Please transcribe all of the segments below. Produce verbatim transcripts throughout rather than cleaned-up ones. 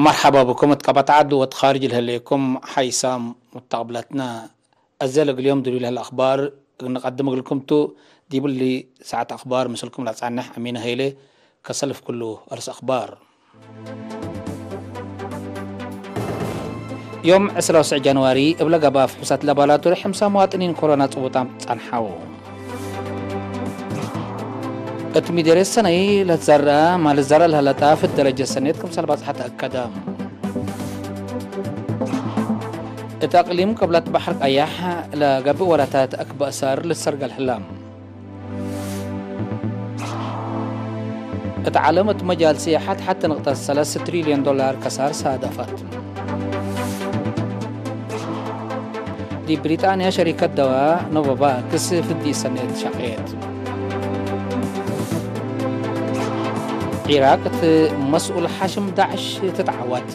መርሐባ ብኩም እት ቀበት ዐድ ወእት ካርጅ ለህሌኩም ሓይሳም ሙተቅብለትነ። አዜ ለእግል ዮም ድሉይ ለህለ አክባር እግል ንቀድም እግልኩም ቱ። ዲብ እሊ ሰዓት አክባር ምስልኩም ለአጻንሕ አሚነ ሀይሌ። ከሰልፍ ኩሉ አርስ አክባር። ዮም ዕስራ ወሰዕ ጃንዋሪ እብ ለገብአ ፍሑሳት ላቦራቶሪ ሕምሳ መዋጥኒን ኮሮና ጽቡጣም ጸንሐው። እት ሚደርየት ሰነይ ለትዘርአ ማል ዘርአ ለህለ ጣፍ እት ደረጀት ሰኔት ክምሰል ባጽሐ ተአከደ። እት አቅሊም ቅብለት በሐር ቀያሕ ለገብእ ወላታት አክበ እሳር ልትሰርገል ህለ። እት ዓለም እት መጃል ስያሐት ሐቲ ንቅጠት ሰለስ ትሪልዮን ዶላር ከሳር ሳደፈት። ዲብ ብሪጣንያ ሸሪከት ደዋ ኖቮቫክስ ፍዲ ሰኔት ሸቄት። ዒራቅ እት መስኡል ሓሽም ዳዕሽ ትትዓወት።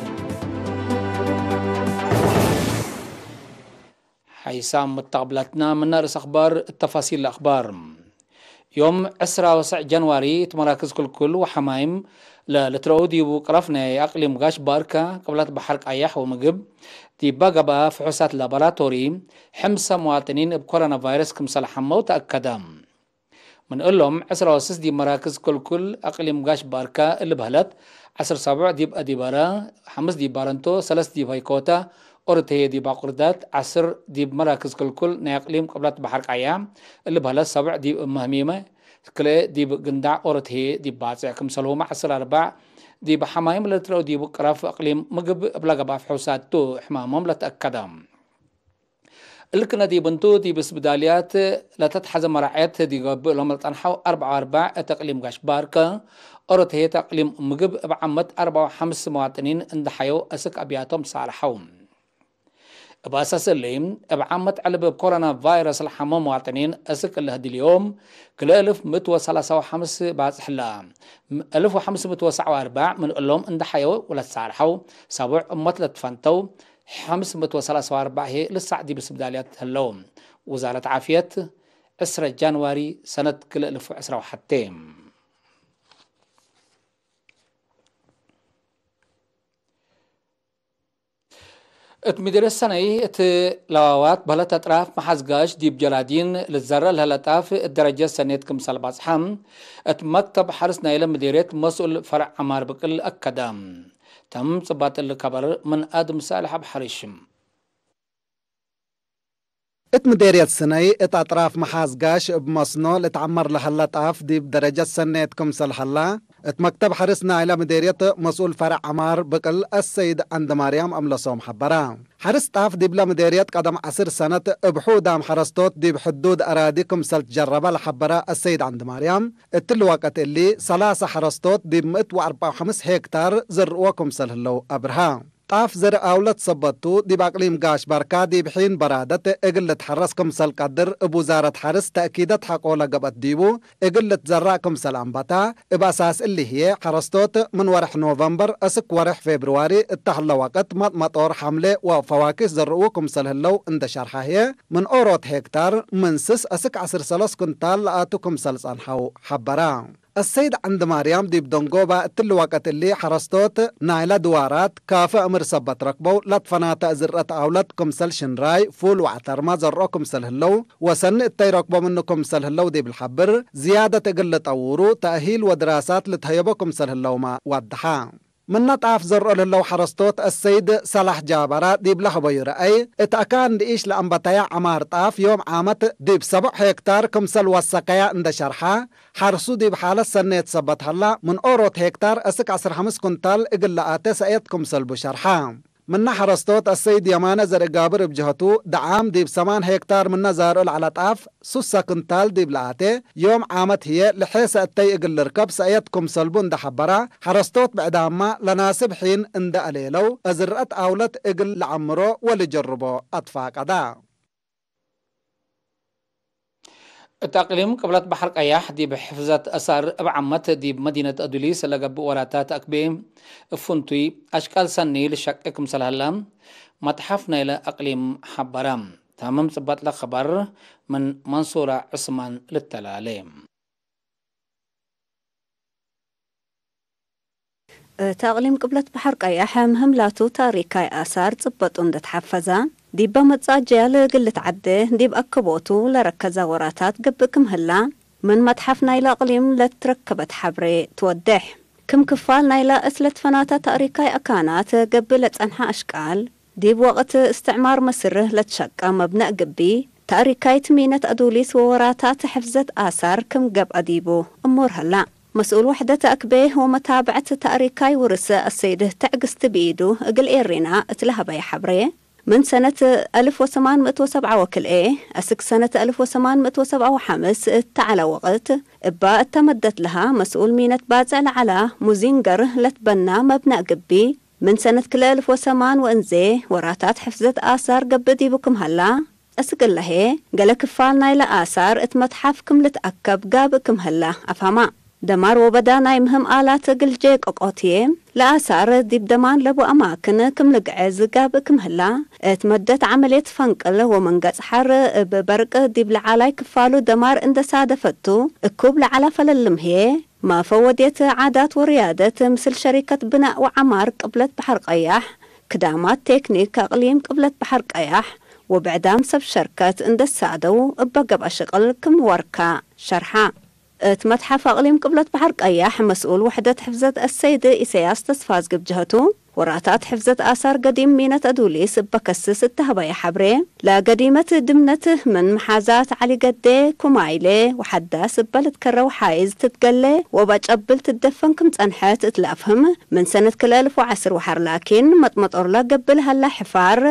ሓይሳም መተቅብላትና ምነ ርእስ አክባር እት ተፋሲል ለአክባር። ዮም ዕስራ ወሰዕ ጃንዋሪ እት መራክዝ ክልኩል ወሐማይም ለልትረኡ ዲቡ ቅረፍ ናይ አቅሊም ጋሽ ባርከ ቅብለት በሐር ቀያሕ ወምግብ ዲባ ገብአ ፍሑሳት ላቦራቶሪ ሕምሰ መዋጥኒን እብ ኮሮና ቫይረስ ክምሰል ሐመው ተአከደ። ምን እሎም ዕስራ ወስስ ዲብ መራክዝ ክልኩል አቅሊም ጋሽ ባርከ እሊ በህለት፣ ዐስር ሰቡዕ ዲብ አዲበረ፣ ሐምስ ዲብ ባረንቶ፣ ሰለስ ዲብ ሀይኮተ፣ ኦሮት ህዬ ዲብ አቁርዳት፣ ዐስር ዲብ መራክዝ ክልኩል ናይ አቅሊም ቅብለት በሐር ቀያ እሊ በህለት፣ ሰቡዕ ዲብ እመ ህሚመ፣ ክልኤ ዲብ ግንዳዕ፣ ኦሮት ህዬ ዲብ ባጽዕ ክምሰልሁመ ዐስር አርባዕ ዲብ ሐማይም ለልትረኡ ዲቡ ቅረፍ አቅሊም ምግብ እብ ለገብአ ፍሑሳት ቱ ሕማሞም ለተአከደ። እልክነ ዲብ እንቱ፣ ዲብ እስብዳልያት ለተትሐዘ መራዐየት ዲብ ገብእ እሎም ለጸንሐው አርበዕ ወአርበዕ እት እቅሊም ጋሽ ባርከ፣ ኦሮት ህዬ እት እቅሊም ምግብ እብ ዓመት አርበዕ ወሐምስ መዋጥኒን እንደ ሐየው እስክ አብያቶም ተሳልሐው። እብ አሳስ እሊ፣ እብ ዓመት ዕልብ እብ ኮሮና ቫይረስ ለሐመው መዋጥኒን እስክ እለ ህድልዮም፣ ክልኤ እልፍ ምእት ወሰላሳ ወሐምስ ባጽሕ ለ፣ እልፍ ወሐምስ ምእት ወሰዕ ወአርበዕ ምን እሎም እንደ ሐየው ወለተሳልሐው፣ ሰቡዕ እሞት ለትፈንተው፣ ሐምስ ምእት ወሰላሳ ወአርበዕ ህዬ ልሳዕ ዲብ ስብዳልያት ህለው። ውዛረት ዓፍየት፣ ዕስረ ጃንዋሪ ሰነት ክልኤ እልፍ ወዕስራ ወሐቴ። እት ምድርየት ሰነይ እት ለዋዋት በህለት አጥራፍ መሓዝጋሽ ዲብ ጀላዲን ልትዘረእ ለህለ ጣፍ እት ደረጀት ሰኔት ክምሰል በጽሐ፣ እት መክተብ ሐርስ ናይለ ምድርየት መስኡል ፈርዕ ዐማር ብቅል አከደ። ተም ጽባጥ እሊ ከበር ምን አድም ሳልሕ አብ ሐሪሽ። እት ምዴርየት ስነይ እት አጥራፍ መሓዝ ጋሽ እብ መስኖ ልትዐመር ለሀለ ጣፍ ዲብ ደረጀት ሰኔት ክምሰል ሀላ፣ እት መክተብ ሐርስ ናይለ ምዴርየት መስኡል ፈርዕ ዐማር ብቅል አሰይድ ዐንድማርያም አምለሶም ሐበረ። ሐርስ ጣፍ ዲብለ ምዴርየት ቀደም ዐስር ሰነት እብ ሑዳም ሐረስቶት ዲብ ሕዱድ አራዲ ክምሰል ትጀረበ ለሐበረ አሰይድ ዐንድማርያም፣ እትሊ ወቅት እሊ ሰላሰ ሐረስቶት ዲብ ምእት ወአርበዕ ወሐምስ ሄክታር ዝርእዎ ክምሰል ህለው አብርሀ። ጣፍ ዘርእ አውለት ሰበት ቱ፣ ዲብ አቅሊም ጋሽ ባርካ ዲብ ሒን በራደት እግል ልትሐረስ ክምሰል ቀድር እብ ውዛረት ሐርስ ተእኪደት ሐቆ ለገብአት ዲቡ፣ እግል ልትዘራእ ክምሰል አንበታ። እብ አሳስ እሊ ህዬ፣ ሐረስቶት ምን ወርሕ ኖቨምበር እስክ ወርሕ ፌብርዋሪ እተ ህለ ወቅት መጥመጦር፣ ሐምሌ ወፈዋኪህ ዘርኡ ክምሰል ህለው እንደ ሸርሐ ህዬ፣ ምን ኦሮት ሄክታር ምን ስስ እስክ ዐስር ሰለስ ኩንታል ለአቱ ክምሰል ጸንሐው ሐበራ። አሰይድ ዐንድማርያም ዲብ ደንጎባ እትሊ ወቅት እሊ ሐረስቶት ናይለ ድዋራት ካፊ እምር ሰበት ረክበው ለትፈናተ ዝርአት አውለት ክምሰል ሽንራይ፣ ፉል ወዐተርመ ዘርኦ ክምሰል ህለው ወሰኒ እተይ ረክቦ ምኑ ክምሰል ህለው ዲብ ልሐብር፣ ዝያደት እግል ልጠውሩ ተእሂል ወድራሳት ልትሀየቦ ክምሰል ህለውመ ወደሐ። ምነ ጣፍ ዘርኦ ለህለው ሐረስቶት አሰይድ ሰላሕ ጃበራ ዲብለ ሀበዩ ረአይ፣ እት አካን ንኢሽ ለአንበተየ ዐማር ጣፍ ዮም ዓመት ዲብ ሰቦዕ ሄክታር ክምሰል ወሰከየ እንደ ሸርሐ፣ ሐርሱ ዲብ ሓለት ሰኔት ሰበት ሀላ፣ ምን ኦሮት ሄክታር እስክ ዐስር ሐምስ ኩንታል እግል ለአቴ ሰእየት ክምሰልቡ ሸርሐ። ምነ ሐረስቶት አሰይድ የማነ ዘርእ ጋብር እብ ጀሀቱ፣ ደዓም ዲብ ሰማን ሄክታር ምነ ዛርኦ ለዐለ ጣፍ፣ ሱሰ ክንታል ዲብ ለአቴ ዮም ዓመት ህዬ፣ ለሔሰ እተይ እግል ልርከብ ሰእየት ክምሰልቡ እንደ ሐበራ፣ ሐረስቶት ብዕዳምመ ለናስብ ሒን እንደ አሌለው፣ አዝርአት አውለት እግል ለዐምሮ ወልጀርቦ አትፋቀዳ። እት አቅሊም ቅብለት በሐር ቀያሕ ዲብ ሕፍዘት አሳር እብ ዓመት ዲብ መዲነት አዱሊስ ለገብእ ወራታት አክቤ እብ ፍንቱይ አሽቃል ሰኒ ልሸቄ ክምሰል ሀለ መትሐፍ ናይለ አቅሊም ሐበረ። ታምም ጽባጥ ለከበር ምን መንሱረ ዕስማን ልተላሌ። እት አቅሊም ቅብለት በሐር ቀያሕ ምህም ላቱ ታሪካይ አሳር ጽበጡ እንዴ ተሐፈዘ፣ ዲበ መጽእ አጅያል እግል ልትዐዴ ዲብ አክቦቱ ለረከዘ ወራታት ገብእ ክም ህላ፣ ምን መትሐፍ ናይለ አቅሊም ለትረከበት ሐብሬ ትወዴሕ። ክም ክፋል ናይለ እስለ ትፈናተ ታሪካይ አካናት ገብእ ለጸንሐ አሽቃል፣ ዲብ ወቅት እስትዕማር ምስር ለትሸቀ መብነእ ግቢ፣ ታሪካይት ሚነት አዱሊስ ወወራታት ሕፍዘት አሳር ክም ገብአ ዲቡ እሙር ሀላ። መስኡል ወሕደት አክቤ ወመታብዐት ታሪካይ ውርስ አሰይድ ትዕግስት ብኢዱ እግል ኤሪና እት ለሀበየ ሐብሬ፣ ምን ሰነት አልፍ ወሰማን ምእት ወሰብዓ ወክልኤ አስክ ሰነት አልፍ ወሰማን ምእት ወሰብዓ ወሐምስ እተ ዐለ ወቅት፣ እባ እተ መደት ለሃ መስኡል ሚነት ባጽዕ ለዐላ ሙዚንገር ለትበና መብነእ ግቢ፣ ምን ሰነት ክልኤ አልፍ ወሰማን ወእንዜ ወራታት ሕፍዘት አሳር ገብእ ዲቡ ክም ሀላ፣ አስክ እለ ህዬ፣ ገሌ ክፋል ናይለ አሳር እት መትሐፍ ክም ልትአከብ ጋብእ ክም ህላ አፍሀማ። ደማር ወበዳ ናይ ምህም አላት እግል ጄቀቆት ህዬ፣ ለአሳር ዲብ ደማን ለቡ አማክን ክም ልግዕዝ ጋብእ ክም ህላ፣ እት መደት ዐመልየት ፈንቅል ወመንገጽ ሐር እብ በርቅ ዲብ ለዓላይ ክፋሉ ደማር እንዴ ሳደፈቱ፣ እኩብ ለዐላ ፈላለም ህዬ፣ መፈወድየት ዓዳት ወርያደት ምስል ሸሪከት ብናእ ወዐማር ቅብለት በሐር ቀያሕ፣ ክዳማት ቴክኒክ አቅሊም ቅብለት በሐር ቀያሕ ወብዕዳም ሰብ ሸርከት እንዴ ሳደው እበ ገብአ ሽቅል ክም ወርካ ሸርሐ። እት መትሐፍ አቅሊም ቅብለት በሐር ቀያሕ መስኡል ወሕደት ሕፍዘት አሰይድ ኢሰያስ ተስፋዝግብ ጀህቱ፣ ወራታት ሕፍዘት አሳር ገዲም ሚነት አዱሊስ እበ ከስስ እተ ሀበየ ሐብሬ፣ ለገዲመት ድምነት ምን መሓዛት ዐሊ ገዴ፣ ኩማይሌ ወሐዳስ እበ ልትከረው ሓይዝ ትትገሌ ወበጨብል ትደፈን ክም ጸንሐት እት ለአፍህም፣ ምን ሰነት ክልኤ አልፍ ወዐስር ወሐር ላኪን፣ መጥመጦርለ ገብእ ለሀላ ሕፋር፣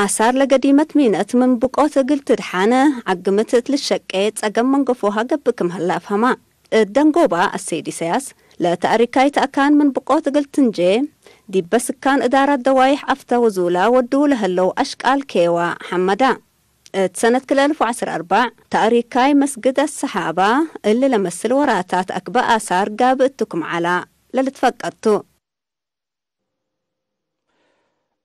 አሳር ለገዲመት ሚነት ምን ብቆት እግል ትድሓን፣ ዐግምት እት ልሸቄ ጸገም መንገፎሃ ገብእ ክም ሀላ አፍሀማ። እት ደንጎባ አሰይድ ኢሰያስ፣ ለታሪካይት አካን ምን ብቆት እግል ትንጄ፣ ዲበ ስካን እዳራት ደዋይሕ አፍተ ወዙላ ወድዉ ለህለው አሽቃል ኬዋ ሐመዳ። እት ሰነት ክልኤ አልፍ ወዐስር ወአርበዕ፣ ታሪካይ መስግድ አሰሓባ እሊ ለመስል ወራታት አክበ አሳር ጋብእ እቱ ክም ዐላ ለልትፈቀድ ቱ።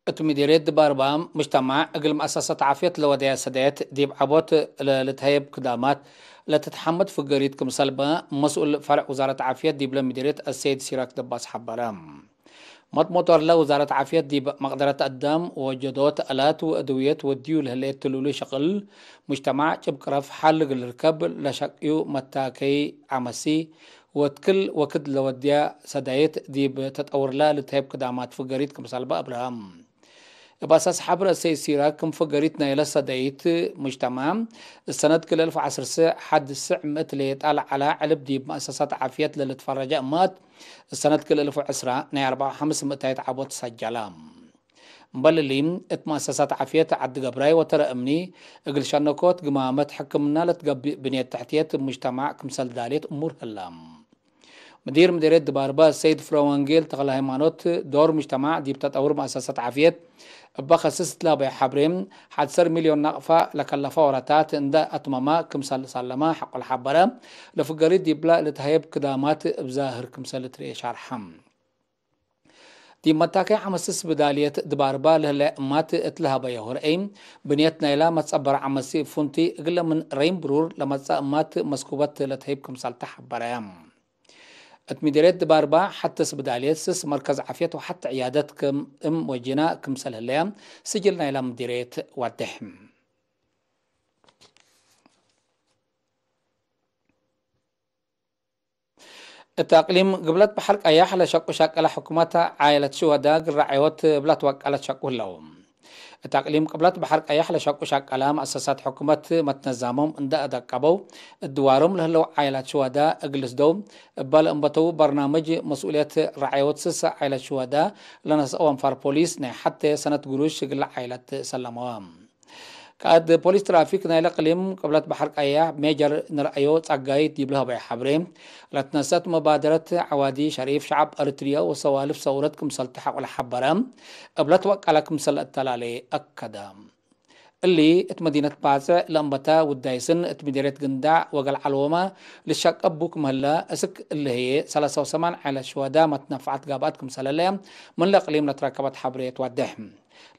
እት ምዲርየት ድባርባ፣ ሙጅተማዕ እግል መአሰሰት ዓፍየት ለወደየ ሰደየት ዲብ ዐቦት ለልትሀየብ ክዳማት ለትትሐመድ ፍገሪት ክምሰልበ፣ መስኡል ፈርዕ ውዛረት ዓፍየት ዲብለ ምዲርየት አሰይድ ሲራክ ደባስ ሐበረ። መጥሞጦርለ ውዛረት ዓፍየት ዲብ መቅደረት አዳም ወወጀዶት አላት ወአድውየት ወድዩ ለህሌት ትሉሉ ሸቅል፣ ሙጅተማዕ ጭብቅረፍ ሐል እግል ልርከብ ለሸቅዩ መታከይ ዐመሲ፣ ወእት ክል ወክድ ለወድያ ሰዳይት ዲብ ተጠውርለ ልትሀይብ ክዳማት ፍገሪት ክምሰልበ አብርሀም። እብ አሳስ ሐብር አሰይድ ሲራክ ክም ፍገሪት ናይለ ሰዳይት ሙጅተማዕ፣ እሰነት ክል አልፍ ወዐስር ሐድ ስዕ ምእት ሌጣ ለዐላ ዕልብ ዲብ መአሰሳት ዓፍየት ለልትፈረጀ እማት፣ እሰነት ክል አልፍ ወዐስራ ናይ አርበዕ ወሐምስ ምእታይት ዐቦት ሰጀለ። እምበል እሊ፣ እት መአሰሳት ዓፍየት ዐዲ ገብራይ ወተረ እምኒ እግል ሸነኮት ግማመት ሕክምና ለትገብእ ብንየት ተሕትየት ሙጅተማዕ ክምሰል ዳሌት እሙር ህለ። ምዲር ምዲርየት ድባርበ ሰይድ ፍረወንጌል ተክለሃይማኖት፣ ዶር ሙጅተማዕ ዲብ ተጠውር መአሰሳት ዓፍየት እበ ከስስ እት ለሀበየ ሐብሬ፣ ሐድ ሰር ሚልዮን ናቅፋ ለከለፈ ወረታት እንደ አትመመ ክምሰል ሳለመ ሐቆል ሐበረ፣ ለፍገሪት ዲብለ ልትሀየብ ክዳማት እብ ዛህር ክምሰል ልትርኤ ሻርሐ። ዲብ መታከይ ዐመሲ ስብዳልየት ድባርባ ለህለ እማት እት ለሀበየሁ ረአይ፣ ብንየት ናይላ መትጸበረ ዐመሲ እብ ፉንቲ እግለ ምን ረይም ብሩር ለመጽአ እማት መስኩበት ለትሀይብ ክምሰል ተሐበረ። እት ምዲርየት ድባርባ ሐቴ ስብዳልየት ስስ መርከዝ ዓፍየት ወሐቴ ዕያደት ክም እም ወጂና ክምሰል ህለየ ስጅል ናይላ ምዲርየት ወዴሕ። እት አቅሊም ግብለት በሐር ቀያሕ ለሸቁ ሸቀለ ሕኩመት ዓይለት ሽወዳ እግል ረዐዮት እብ ለትወቀለት ሸቁ ህለው። እት አቅሊም ቅብለት በሐር ቀያሕ ለሸቁ ሸቀለ መአሰሳት ሕኩመት መትነዛሞም እንደ አደቀበው፣ እት ድዋሮም ለህለው ዓይላት ሽወዳ እግል ልስደው እበ ለእንበተው በርናምጅ መስኡልየት ረዐዮት ስስ ዓይለት ሽወዳ ለነስአው አንፋር ፖሊስ ናይ ሐቴ ሰነት ግሩሽ እግል ዓይለት ሰለመወ። ቃእድ ፖሊስ ትራፊክ ናይለ እቅሊም ቅብለት በሐር ቀያሕ ሜጀር ንርአዮ ጸጋይ ዲብ ለሀበየ ሐብሬ፣ ለትነሰአት መባደረት ዐዋዲ ሸሪፍ ሸዐብ ኤሪትርያ ወሰዋልፍ ሰውረት ክምሰል ተሐቆ ለሐበረ፣ እብ ለትወቀለ ክምሰል ለአተላሌ አከደ። እሊ እት መዲነት ባጽዕ ለእንበተ ውዳይስን እት ምዴርየት ግንዳዕ ወገልዓል ወማ ልሸቀብ ቡ ክም ህለ፣ እስክ እሊ ህዬ ሰላሳ ወሰማን ዓይለት ሽወዳ መትነፈዐት ጋብአት ክምሰለ ለየ ምን ለእቅሊም ለትረከበት ሐብሬ ትወዴሕ።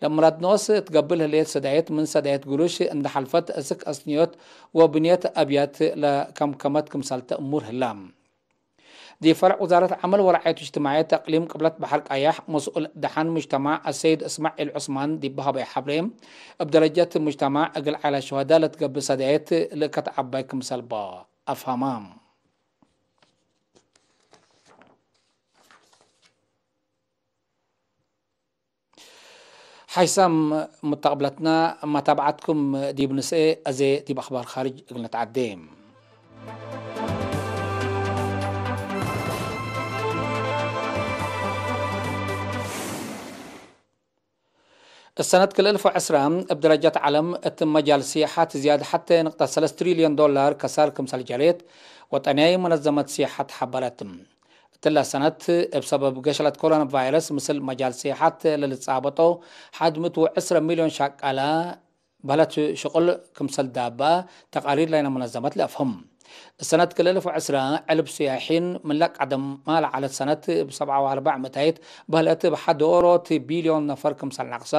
ለምራድ ኖስ እት ገብእ ለህሌት ሰዳየት ምን ሰዳየት ግሩሽ እንደ ሐልፈት እስክ አስንዮት ወብንየት አብያት ለከምከመት ክምሰልተ እሙር ህላ። ዲብ ፈርዕ ውዛረት ዐመል ወረዓየት እጅትማዕየት እቅሊም ቅብለት በሐር ቀያሕ መስኡል ደሓን ሙጅተማዕ አሰይድ እስማዒል ዑስማን ዲብ ሀበየ ሐብሬ፣ እብ ደረጀት ሙጅተማዕ እግል ዐይላት ሹሀዳ ለትገብእ ሰድያየት ልእከት ዐባይ ክምሰል በ አፍሀመ። ሓይሳም ሙተቅብለትና፣ መታብዐትኩም ዲብ ንስኤ፣ አዜ ዲብ አኽባር ካርጅ እግል ነትዐዴ። እሰነት ክልኤ እልፍ ወዕስረ እብ ደረጃት ዐለም እት መጃል ሲያሐት ዝያድ ሐቴ ንቅጠት ሰለስ ትሪልዮን ዶላር ከሳር ክምሰል ጀሬት ወጠንያይ መነዘመት ሲያሐት ሐበረት። እትለ ሰነት እብ ሰበብ ገሸለት ኮሮና ቫይረስ ምስል መጃል ሲያሐት ለልትጻበጦ ሐድ ምእት ወዕስረ ሚልዮን ሸቃለ በህለት ሽቁል ክምሰል ዳበአ ተቃሪር ናይነ መነዘመት ለአፍህም። እሰነት ክልኤ እልፍ ወዕስረ ዕልብ ስያሒን ምንለ ቀደማ ለዐለት ሰነት እብ ሰብዓ ወአርበዕ ምእታይት በህለት እብ ሐድ ኦሮት ቢልዮን ነፈር ክምሰል ነቅሰ፣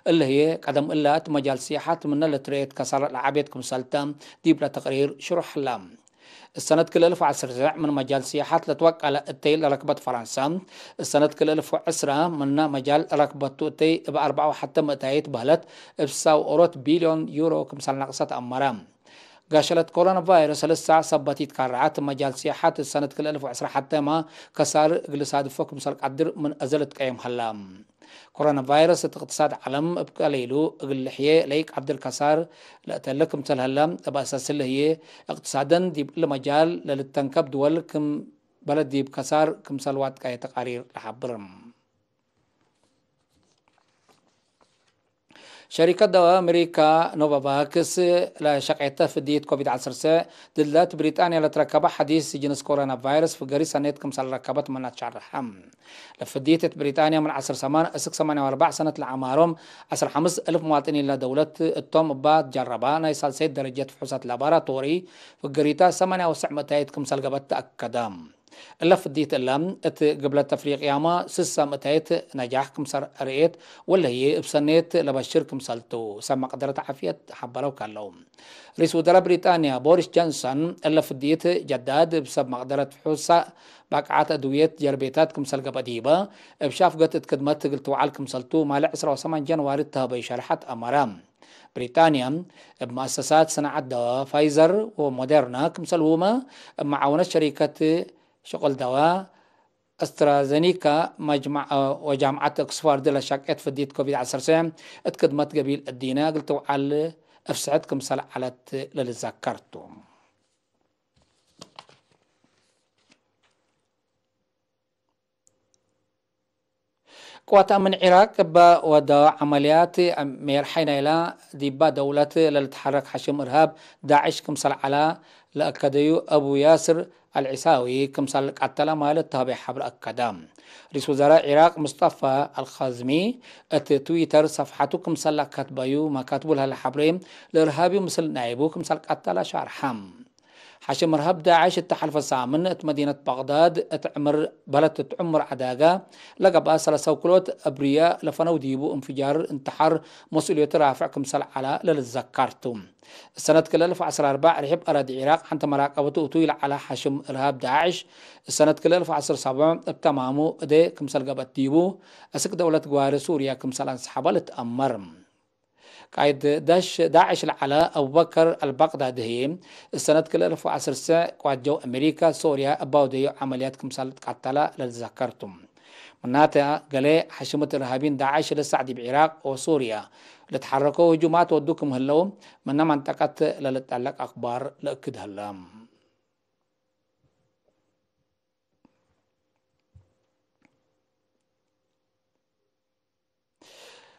እለ ህዬ ቀደም እለ እት መጃል ስያሐት ምነ ለትረኤት ከሳር ለዐቤት ክምሰልተ ዲብለ ተቅሪር ሽሩሕ ህለ። እሰነት ክልኤ እልፍ ወዐሰርተ ምን መጃል ስያሐት ለትወቀለ እተይ ለረክበት ፈረንሰ፣ እሰነት ክልኤ እልፍ ወዕስረ ምነ መጃል ረክበቱ እተይ እብ አርበዓ ወሐተ ምእታይት በህለት እብ ሰው ኦሮት ቢልዮን ዩሮ ክምሰል ነቅሰት አመረ። ጋሸለት ኮሮና ቫይረስ ለሳዕ ሰበት ኢትካረዐት፣ መጃል ሲያሐት እሰነት ክልኤ እልፍ ወዕስረ ሐቴመ ከሳር እግል ሳድፎ ክምሰል ቀድር ምን አዘ ልትቀየም ሀላ። ኮሮና ቫይረስ እት እቅትሳድ ዐለም እብ ቀሊሉ እግል ልሕዬ ለኢቀድር ከሳር ለእተለ ክምሰል ሀላ፣ እብ አሳስለ ህዬ እቅትሳደን ዲብ እሊ መጃል ለልተንከብ ድወል ክም በለድ ዲብ ከሳር ክምሰል ዋጥቀየ ተቃሪር ለሐብር። ሸሪከት ደዋ አሜሪካ ኖቫቫክስ ለሸቄተ ፍድይት ኮቪድ ዐሰርተ ድድ ለት ብሪጣንያ ለትረከበ ሐዲስ ጅንስ ኮሮና ቫይረስ ፍገሪ ሰኔት ክምሰል ረከበት ምና ትሸረሐ። ለፍድይት እት ብሪጣንያ ምን ዐስር ሰማን እስክ ሰማንያ ወአርበዕ ሰነት ለዐማሮም ዐስር ሐምስ እልፍ መዋጥኒን ለደውለት እቶም እባ ትጀረባ ናይ ሳልሰይት ደረጀት ፍሑሳት ላባራቶሪ ፍገሪታ ሰማንያ ወሰዕ ምእታይት ክምሰል ገብአት ተአከደ። እለ ፍድይት እለ፣ እት ግብለት አፍሪቅያመ ስሰ ምእታይት ነጃሕ ክምሰል ርኤት፣ ወለህዬ እብ ሰኔት ለበሽር ክምሰልቱ፣ ሰብ መቅደረት ዓፍየት ሐበረው ከለው። ርኢስ ውዘራእ ብሪጣንያ ቦሪስ ጆንሰን፣ እለ ፍድይት ጀዳድ እብ ሰብ መቅደረት ፍሑሳ ባቅዓት አድውየት ጀርቤታት ክምሰል ገብአ ዲበ፣ እብ ሻፍገት እት ክድመት እግል ትውዓል ክምሰልቱ፣ ማለ ዕስራ ወሰማን ጀንዋሪ እተሀበዩ ሸርሐት አመረ። ብሪጣንያ፣ እብ መአሰሳት ሰናዐት ደዋ ፋይዘር ወሞዴርና ክምሰልሁመ፣ እብ መዓወነት ሸሪከት ሽቁል ደዋ፣ አስትራዘኒካ መጅመዕ ወጃምዐት ኦክስፎርድ ለሸቄት ፍድይት ኮቪድ ዐሰርተ እት ክድመት ገቢል እዲነ እግል ትውዓል እፍስሕት ክምሰል ዐለት ለልዘከር ቱ። ቅዋት አምን ዒራቅ እበ ወደወ ዐመልያት ሜርሐይ ናይላ ዲባ ደውለት ለልትሐረክ ሐሽም እርሃብ ዳዕሽ ክምሰል ዐላ ለአከደዩ አቡ ያስር አልዒሳዊ ክምሰል ቀተለ ማል እተሀበየ ሐብር አከደ። ርኢስ ውዘራእ ዒራቅ ሙስጠፋ አልካዝሚ እት ትዊተር ሰፍሐቱ ክምሰል ለከትበዩ መካትቡ ለህለ ሐብሬ ለእርሃብዩ ምስል ናይቡ ክምሰል ቀተለ ሻርሐ። ሐሽም እርሃብ ዳዕሽ እተ ሐልፈ ሳምን እት መዲነት በቅዳድ እት ዕምር በለት እት ዕምር ዐዳጋ ለገብአ ሰለሰ ውክሎት አብርያ ለፈነው ዲቡ እንፍጃር እንትሓር መስኡልየቱ ራፍዕ ክምሰል ዐላ ለልዘከር ቱ። እሰነት ክልኤ እልፍ ወዐስር አርበዕ ርሒብ አራዲ ዒራቅ ሐንተ መራቀበቱ እቱይ ለዐለ ሐሽም እርሃብ ዳዕሽ፣ እሰነት ክልኤ እልፍ ወዐስር ሰብዕ እብ ተማሙ እዴ ክምሰል ገብአት ዲቡ፣ አስክ ደውለት ግዋሪ ሱርያ ክምሰል አንሰሐበ ልትአመር። ቃይድ ዳሽ-፣ ዳዕሽ ለዐለ አቡበከር አልባቅዳዲ ህዬ፣ እሰነት ክልኤ እልፍ ወዐስር ስዕ ቅዋት ጀው አሜሪካ ሶርያ እባውደዩ ዐመልያት ክምሰል ቀተለ ለልትዘከር ቱ። ምናተ፣ ገሌ ሐሽመት እርሃቢን ዳዕሽ ለሳዕ ዲብ ዒራቅ ወሱርያ ለትሐረኮ ህጁማት ወዱ ክም ህለው፣ ምነ መንጠቀት ለልጠለቅ አክባር ለእክድ ህለ።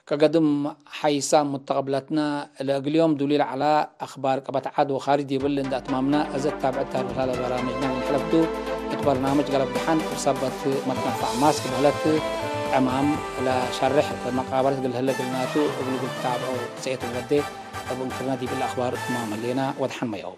ከገድም ሐይሳም ሙተቀብለትነ፣ ለእግል ዮም ዱሊ ለዐለ አክባር ቀበት ዐድ ወካርጅ ዲብል እንዴ አትማምነ፣ እዘ ትታብዐት ታርፍ ላለ በራምጅነ ምን ሐለፍቱ፣ እት በርናምጅ ገለብ ደሐን እብ ሰበት መትነፋዕ ማስክ በህለት ዕማም ለሸርሕ መቃበለት እግል ህለ እግልናቱ እግል እግል ትታብዐው ሰኤት ወዴ እብ እንክርነ ዲብል አክባር እትማም ህሌነ ወደሐን መያው።